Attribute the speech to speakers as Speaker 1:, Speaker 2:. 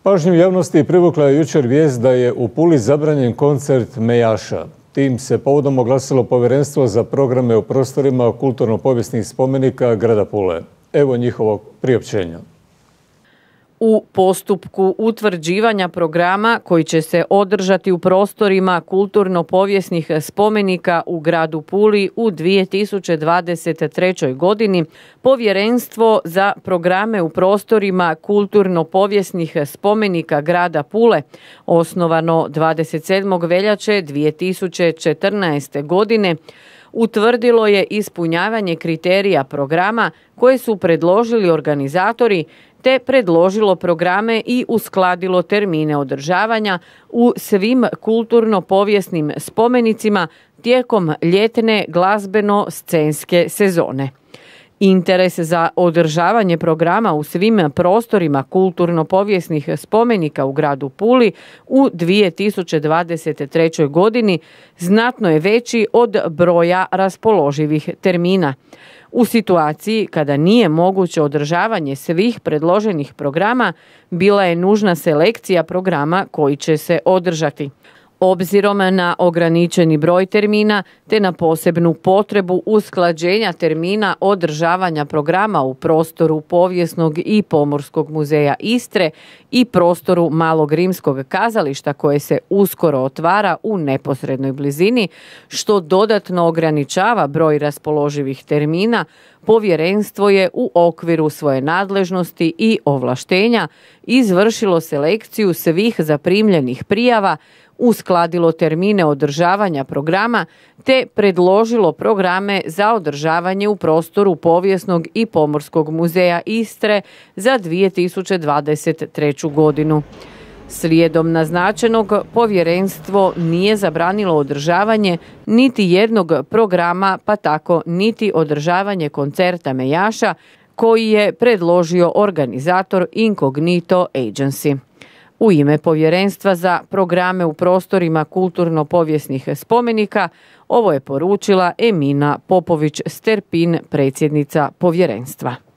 Speaker 1: Pažnju javnosti privukla je jučer vijest da je u Puli zabranjen koncert Mejaša. Tim se povodom oglasilo Povjerenstvo za programe u prostorima kulturno-povijesnih spomenika grada Pule. Evo njihovog priopćenja.
Speaker 2: U postupku utvrđivanja programa koji će se održati u prostorima kulturno-povijesnih spomenika u gradu Puli u 2023. godini, Povjerenstvo za programe u prostorima kulturno-povijesnih spomenika grada Pule, osnovano 27. veljače 2014. godine, utvrdilo je ispunjavanje kriterija programa koje su predložili organizatori, te predložilo programe i uskladilo termine održavanja u svim kulturno-povijesnim spomenicima tijekom ljetne glazbeno-scenske sezone. Interes za održavanje programa u svim prostorima kulturno-povijesnih spomenika u gradu Puli u 2023. godini znatno je veći od broja raspoloživih termina. U situaciji kada nije moguće održavanje svih predloženih programa, bila je nužna selekcija programa koji će se održati. Obzirom na ograničeni broj termina te na posebnu potrebu usklađenja termina održavanja programa u prostoru Povijesnog i Pomorskog muzeja Istre i prostoru Malog rimskog kazališta koje se uskoro otvara u neposrednoj blizini, što dodatno ograničava broj raspoloživih termina, Povjerenstvo je u okviru svoje nadležnosti i ovlaštenja izvršilo selekciju svih zaprimljenih prijava, uskladilo termine održavanja programa te predložilo programe za održavanje u prostoru Povijesnog i Pomorskog muzeja Istre za 2023. godinu. Slijedom naznačenog, Povjerenstvo nije zabranilo održavanje niti jednog programa, pa tako niti održavanje koncerta Mejaša koji je predložio organizator Incognito Agency. U ime Povjerenstva za programe u prostorima kulturno-povijesnih spomenika ovo je poručila Emina Popović-Sterpin, predsjednica Povjerenstva.